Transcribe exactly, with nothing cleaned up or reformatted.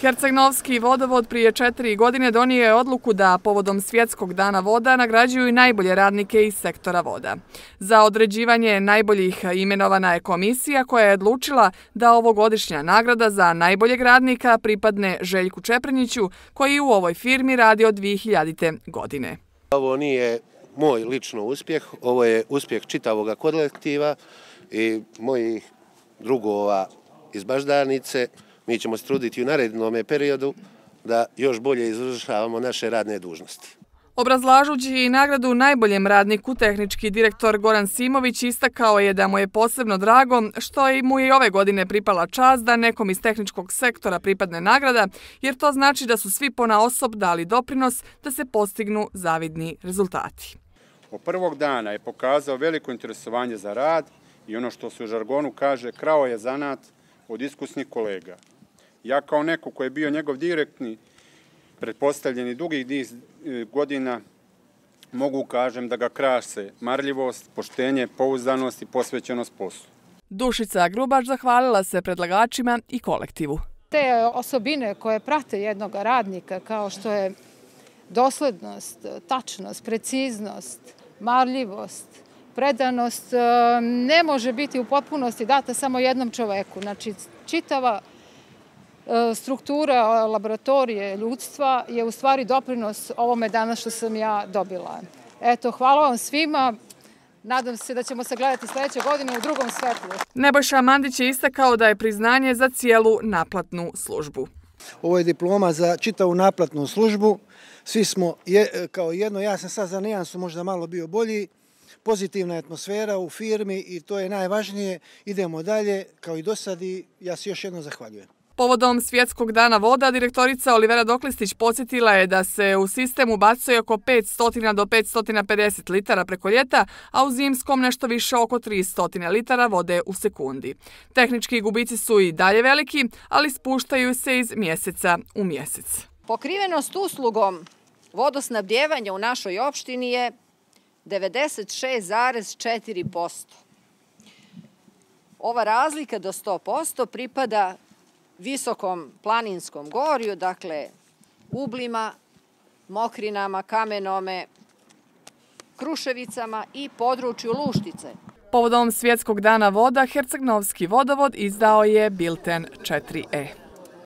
Herceg-Novski vodovod prije četiri godine donio je odluku da povodom Svjetskog dana voda nagrađuju i najbolje radnike iz sektora voda. Za određivanje najboljih imenovana je komisija koja je odlučila da ovogodišnja nagrada za najboljeg radnika pripadne Željku Čeprenjiću koji u ovoj firmi radi od dvije hiljadite. godine. Ovo nije moj lično uspjeh, ovo je uspjeh čitavog kolektiva i mojih drugova iz Baždarnice. Mi ćemo se truditi u narednom periodu da još bolje izvršavamo naše radne dužnosti. Obrazlažući nagradu najboljem radniku, tehnički direktor Goran Simović istakao je da mu je posebno drago što mu je i ove godine pripala čast da nekom iz tehničkog sektora pripadne nagrada, jer to znači da su svi ponaosob dali doprinos da se postignu zavidni rezultati. Od prvog dana je pokazao veliko interesovanje za rad i ono što se u žargonu kaže, krao je zanat od iskusnih kolega. Ja kao neko koji je bio njegov direktni, pretpostavljeni dugih niz godina, mogu kažem da ga krase marljivost, poštenje, pouzdanost i posvećenost poslu. Dušica Grubač zahvalila se predlagačima i kolektivu. Te osobine koje prate jednog radnika kao što je doslednost, tačnost, preciznost, marljivost, predanost ne može biti u potpunosti data samo jednom čoveku. Znači, čitava struktura laboratorije ljudstva je u stvari doprinos ovome danas što sam ja dobila. Eto, hvala vam svima. Nadam se da ćemo se gledati sljedeće godine u drugom svetlu. Nebojša Mandić je istakao da je priznanje za cijelu naplatnu službu. Ovo je diploma za čitavu naplatnu službu. Svi smo kao jedno, ja sam sad za nijansu možda malo bio bolji. Pozitivna atmosfera u firmi i to je najvažnije. Idemo dalje kao i do sad i ja se još jednom zahvaljujem. Povodom Svjetskog dana voda, direktorica Olivera Doklistić podsjetila je da se u sistem ubacuje oko petsto do petsto pedeset litara preko ljeta, a u zimskom nešto više oko tristo litara vode u sekundi. Tehnički gubici su i dalje veliki, ali spuštaju se iz mjeseca u mjesec. Pokrivenost uslugom vodosnabdijevanja u našoj opštini je devedeset šest zarez četiri posto. Ova razlika do sto posto pripada visokom planinskom gorju, dakle ublima, mokrinama, kamenome, Kruševicama i području Luštice. Povodom Svjetskog dana voda, Herceg-Novski vodovod izdao je bilten četiri E.